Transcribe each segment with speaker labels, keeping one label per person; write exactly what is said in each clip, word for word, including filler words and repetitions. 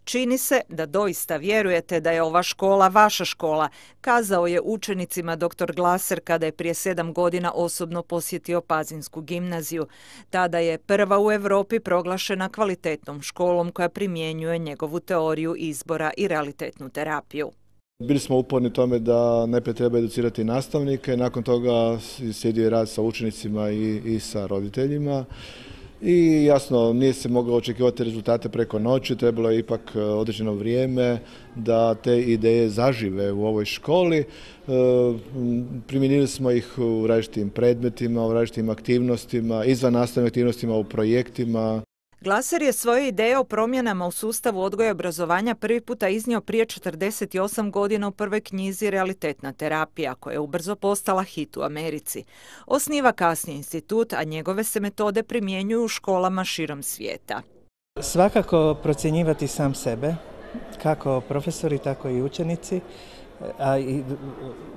Speaker 1: Čini se da doista vjerujete da je ova škola vaša škola, kazao je učenicima doktor Glaser kada je prije sedam godina osobno posjetio Pazinsku gimnaziju. Tada je prva u Europi proglašena kvalitetnom školom koja primjenjuje njegovu teoriju izbora i realitetnu terapiju.
Speaker 2: Bili smo uporni tome da najprije treba educirati nastavnike, nakon toga slijedio je rad sa učenicima i, i sa roditeljima. I jasno, nije se moglo očekivati rezultate preko noći, trebalo je ipak određeno vrijeme da te ideje zažive u ovoj školi. E, primijenili smo ih u različitim predmetima, u različitim aktivnostima, izvan nastavnim aktivnostima, u projektima.
Speaker 1: Glaser je svoje ideje o promjenama u sustavu odgoja i obrazovanja prvi puta iznio prije četrdeset osam godina u prvoj knjizi Realitetna terapija, koja je ubrzo postala hit u Americi. Osniva kasnije institut, a njegove se metode primjenjuju u školama širom svijeta.
Speaker 3: Svakako procjenjivati sam sebe, kako profesori, tako i učenici, a i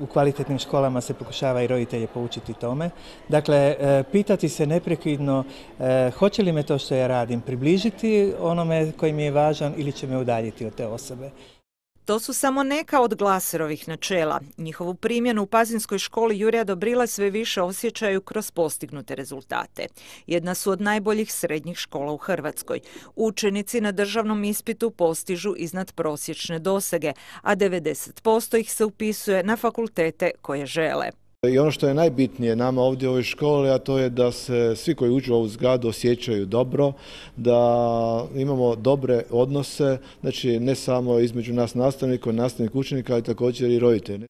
Speaker 3: u kvalitetnim školama se pokušava i roditelje poučiti tome. Dakle, pitati se neprekidno hoće li me to što ja radim približiti onome koji mi je važan ili će me udaljiti od te osobe.
Speaker 1: To su samo neka od Glaserovih načela. Njihovu primjenu u Pazinskoj školi Jurija Dobrile sve više osjećaju kroz postignute rezultate. Jedna su od najboljih srednjih škola u Hrvatskoj. Učenici na državnom ispitu postižu iznad prosječne dosege, a devedeset posto ih se upisuje na fakultete koje žele.
Speaker 2: I ono što je najbitnije nama ovdje u ovoj školi, a to je da se svi koji uđu u ovu zgradu osjećaju dobro, da imamo dobre odnose, znači ne samo između nas nastavnika, nastavnika učenika, ali također i roditelja.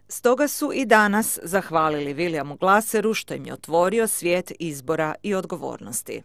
Speaker 1: Stoga su i danas zahvalili Williamu Glaseru što im je otvorio svijet izbora i odgovornosti.